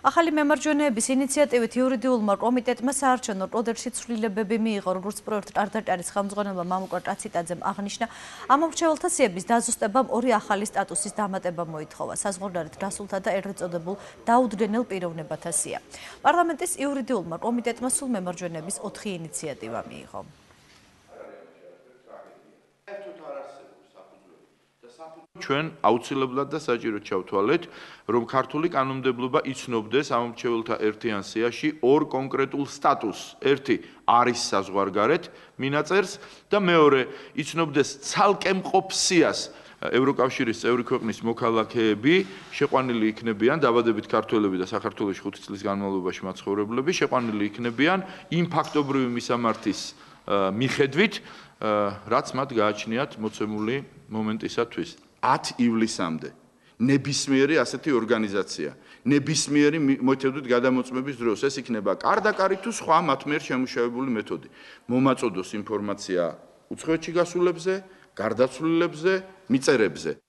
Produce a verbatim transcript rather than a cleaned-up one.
ახალი მემარჯვენეების ინიციატივით იურიდიულმა კომიტეტმა საარჩევნო კოდექსში ცვლილებები მიიღო, როგორც პროექტ კარ-და-კარის ხელმძღვანელმა მამუკა კაციტაძემ აღნიშნა. ამ მრჩეველთა სიების დაზუსტებამ ორი ახალი სტატუსის დამატება მოითხოვა. საზღვარგარეთ გასულთა და ერთ წოდებულ დაუდგენელ პიროვნებათა სია. პარლამენტის იურიდიულმა კომიტეტმა სულ მემარჯვენეების ოთხი ინიციატივა მიიღო. ჩვენ აუცილებლად და საჭიროდ ჩავთვალეთ, რომ ქართული კანონმდებლობა იცნობდეს ამ მრჩეველთა ერთიან სიაში ორ კონკრეტულ სტატუსს. ერთი არის საზღვარგარეთ მინაწერს და მეორე იცნობდეს ცალკე მყოფ სიას. ევროკავშირის წევრი ქვეყნის მოქალაქეები შეყვანილი იქნებიან, დაბადებით ქართველები და საქართველოში ხუთი წლის განმავლობაში მაცხოვრებლები შეყვანილი იქნებიან იმ ფაქტობრივი მისამართის მიხედვით, რაც მათ გააჩნიათ მოცემული მომენტისათვის. ათი ივლისამდე ნებისმიერი ასეთი ორგანიზაცია, ნებისმიერი მეთოდით გადამოწმების დროს, ეს იქნება კარ-და-კარი თუ სხვა მათ მიერ შემუშავებული მეთოდი, მომაწოდოს ინფორმაცია უცხოეთში გასულებზე, გარდაცვლილებზე, მიწერებზე.